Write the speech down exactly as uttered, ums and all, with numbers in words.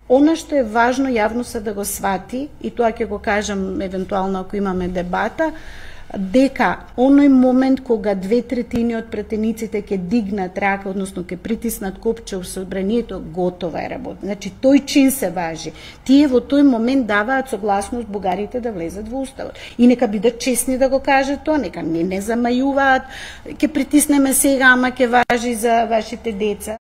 Она што е важно јавноста да го свати, и тоа ќе го кажам евентуално ако имаме дебата, дека оној момент кога две третини од пратениците ќе дигнат рака, односно ќе притиснат копче во собранието, готова е работа. Значи тој чин се важи. Тие во тој момент даваат согласност бугарите да влезат во уставот. И нека бидат честни да го кажат тоа, нека не не замајуваат, ќе притиснеме сега, ама ќе важи за вашите деца.